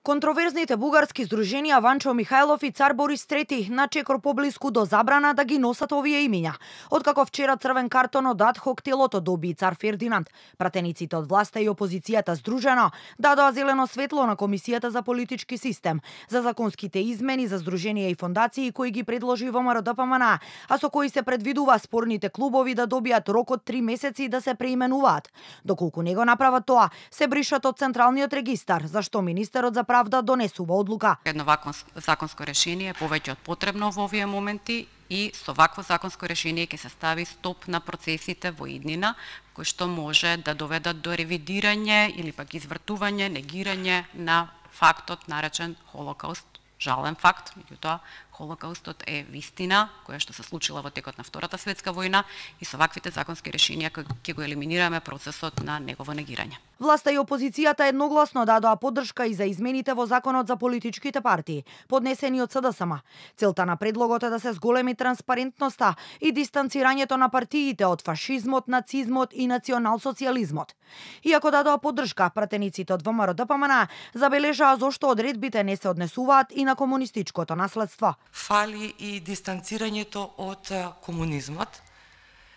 Контроверзните бугарски здруженија Ванчо Михајлов и Цар Борис III на чекор поблиску до забрана да ги носат овие имиња. Откако вчера црвен картон од ад хок телото доби Цар Фердинанд, пратениците од власта и опозицијата здружено дадоа зелено светло на Комисијата за политички систем за законските измени за здруженија и фондации кои ги предложи ВМРО ДПМН, а со кои се предвидува спорните клубови да добијат рок од 3 месеци да се преименуваат. Доколку не го направат тоа, се бришат од Централниот регистар, зашто министерот за правда донесува одлука. Едно вакво законско решение е повеќе од потребно во овие моменти и со вакво законско решение ќе се стави стоп на процесите во иднина, кои што може да доведат до ревидирање или пак извртување, негирање на фактот наречен Холокауст. Жален факт, меѓутоа Холокаустот е вистина која што се случила во текот на Втората светска војна и со ваквите законски решенија ќе го елиминираме процесот на негово негирање. Власта и опозицијата едногласно дадоа поддршка и за измените во Законот за политичките партии, поднесени од СДСМ. Целта на предлогот е да се зголеми транспарентноста и дистанцирањето на партиите од фашизмот, нацизмот и националсоцијализмот. Иако дадоа поддршка, пратениците од ВМРО ДПМН забележаа зошто одредбите не се однесуваат и на комунистичкото наследство. Фали и дистанцирањето од комунизмот.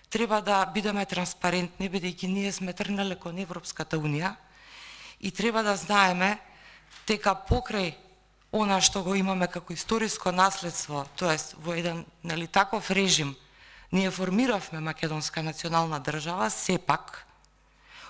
Треба да бидеме транспарентни, бидејќи ние сме тргнале кон Европската Унија и треба да знаеме дека покрај она што го имаме како историско наследство, тоест во еден таков режим, ние формиравме македонска национална држава, сепак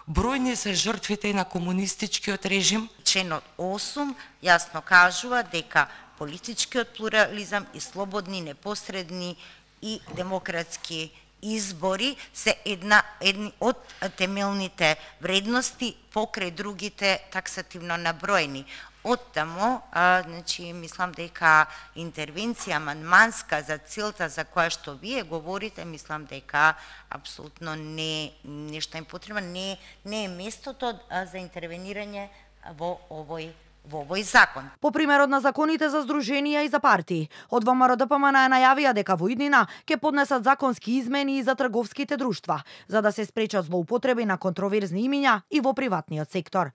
бројни се жртвите на комунистичкиот режим. Членот 8 јасно кажува дека политичкиот плурализам и слободни, непосредни и демократски избори се едни од темелните вредности покрај другите таксативно наброени. Оттаму, мислам дека интервенција амандманска за целта за која што вие говорите, мислам дека апсолутно нешто им потребно, не е местото за интервенирање во овој закон. По примерот на законите за здруженија и за партии, од ВМРО ДПМН најавија дека во иднина ќе поднесат законски измени и за трговските друштва, за да се спречат злоупотреби на контроверзни имиња и во приватниот сектор.